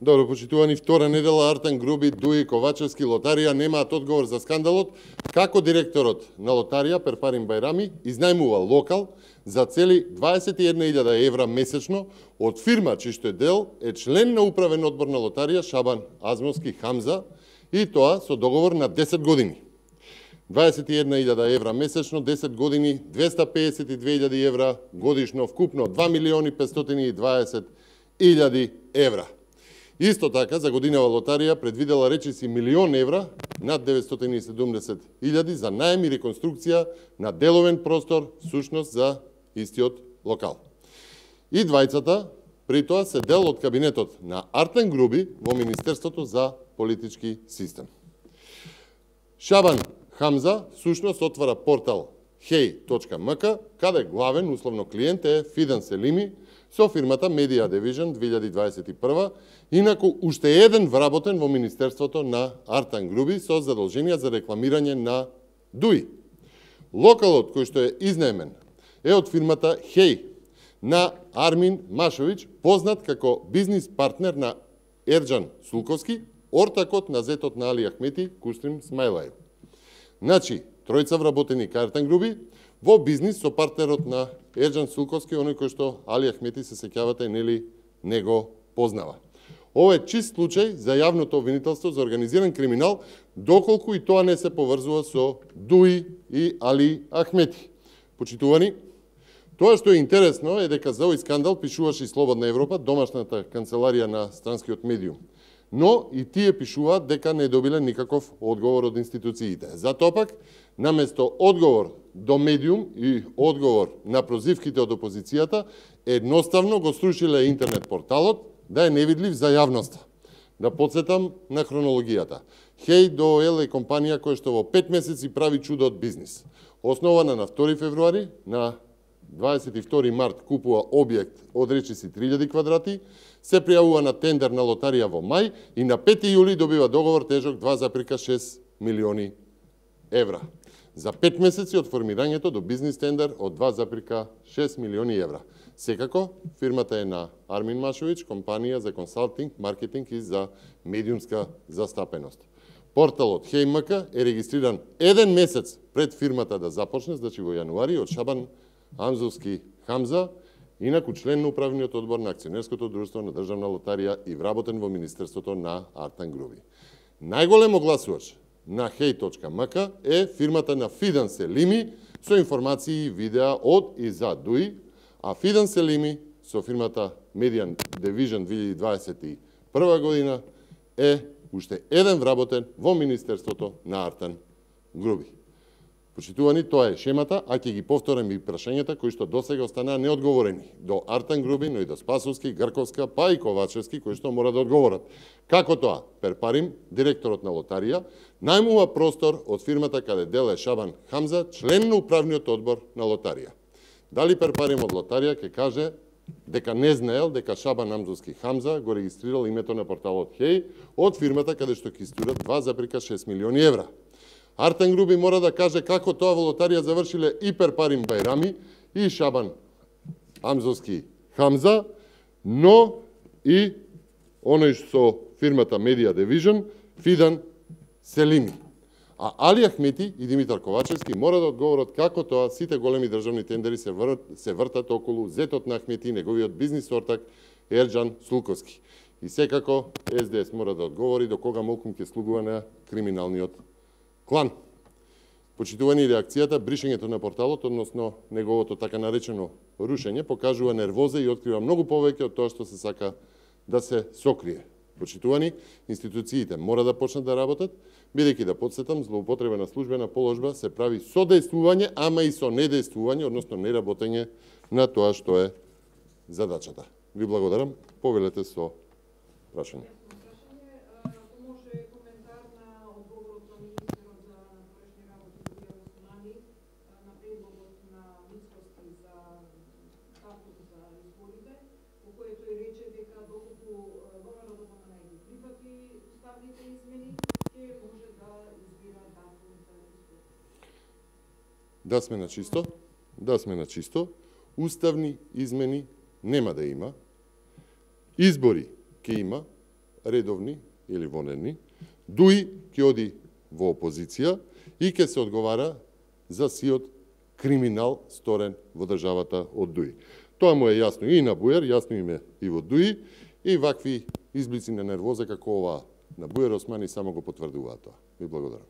Добро, почитувани, втора недела Артан Груби, Дуи, Ковачевски, Лотарија немаат одговор за скандалот како директорот на Лотарија Перпарим Бајрами изнајмува локал за цели 21.000 евра месечно од фирма чиј што е член на управен одбор на Лотарија Шабан Азмовски Хамза, и тоа со договор на 10 години. 21.000 евра месечно, 10 години, 252.000 евра годишно, вкупно 2.520.000 евра. Исто така, за годинава Лотарија предвидела речиси 1.000.000 евра, над 970.000 за наем и реконструкција на деловен простор, сушност за истиот локал. И двајцата, при тоа, се дел од кабинетот на Артан Груби во Министерството за политички систем. Шабан Хамза, сушност, отвара портал hey.mk, каде главен условно клиент е Фидан Селими, со фирмата Media Division 2021, инаку уште еден вработен во Министерството на Артан Груби со задолженија за рекламирање на ДУИ. Локалот кој што е изнаемен е од фирмата Хей на Армин Машовиќ, познат како бизнис партнер на Ерџан Сулковски, ортакот на зетот на Али Ахмети, Кустрим Смајлаев. Значи, тројца вработени кај Артан Груби во бизнис со партнерот на Ерџан Сулковски, оној кој што Али Ахмети, се сеќавате, нели, него познава. Ова е чист случај за јавното обвинителство за организиран криминал, доколку и тоа не се поврзува со ДУИ и Али Ахмети. Почитувани, тоа што е интересно е дека за овој скандал пишуваше и Слободна Европа, домашната канцеларија на странскиот медиум. Но и тие пишуваат дека не добиле никаков одговор од институциите. Затоа пак, наместо одговор до медиум и одговор на прозивките од опозицијата, едноставно го срушиле интернет порталот да е невидлив за јавноста. Да подсетам на хронологијата. Hey.OL е компанија која што во 5 месеци прави чудо од бизнис. Основана на 2 февруари, на 22 март купува објект од речиси 3000 квадрати, се пријавува на тендер на Лотарија во мај и на 5 јули добива договор тежок 2,6 милиони евра. За 5 месеци од формирањето до бизнис тендер од 2,6 милиони евра. Секако, фирмата е на Армин Машовиќ, компанија за консалтинг, маркетинг и за медиумска застапеност. Порталот Hey.mk е регистриран еден месец пред фирмата да започне, значи во јануари, од Шабан Амзовски Хамза, инаку член на управниот одбор на акционерското друштво на Државна лотарија и вработен во Министерството на Артан Груби. Најголем огласувач на Hey.mk е фирмата на Фидан Селими со информации и видеа од и за ДУИ, а Фидан Селими со фирмата Media Division 2021 година е уште еден вработен во Министерството на Артан Груби. Почитувани, тоа е шемата, а ќе ги повторам и прашањата кои што досега останаа неодговорени до Артан Груби, но и до Спасовски, Грковска, па и Ковачевски, кои што мора да одговорат. Како тоа? Перпарим, директорот на Лотарија, најмува простор од фирмата каде дел е Шабан Хамза, член на управниот одбор на Лотарија. Дали Перпарим од Лотарија ќе каже дека не знаел дека Шабан Амзовски Хамза го регистрирал името на порталот Хей од фирмата каде што ќе истурат 2,6 милиони евра. Артан Груби мора да каже како тоа во Лотарија завршиле и Перпарим Бајрами и Шабан Амзовски Хамза, но и оној со фирмата Media Division Фидан Селими. А Али Ахмети и Димитар Ковачевски мора да одговорат како тоа сите големи државни тендери се вртат околу зетот на Ахмети и неговиот бизнис ортак Ерџан Сулковски. И секако СДС мора да одговори до кога молкум ќе слугува на криминалниот клан. Почитувани, реакцијата, бришењето на порталот, односно неговото така наречено рушење, покажува нервоза и открива многу повеќе од тоа што се сака да се сокрие. Почитувани, институциите мора да почнат да работат, бидејќи да подсетам, злоупотреба на службена положба се прави со дејствување, ама и со недејствување, односно неработење на тоа што е задачата. Ви благодарам, повелете со прашање. Да сме на чисто, уставни измени нема да има, избори ќе има, редовни или вонедни, Дуи ќе оди во опозиција и ќе се одговара за сиот криминал сторен во државата од Дуи. Тоа му е јасно и на Бујар, јасно им е и во Дуи, и вакви изблици на нервоза како ова на Бујар Османи само го потврдуваат тоа. Ви благодарам.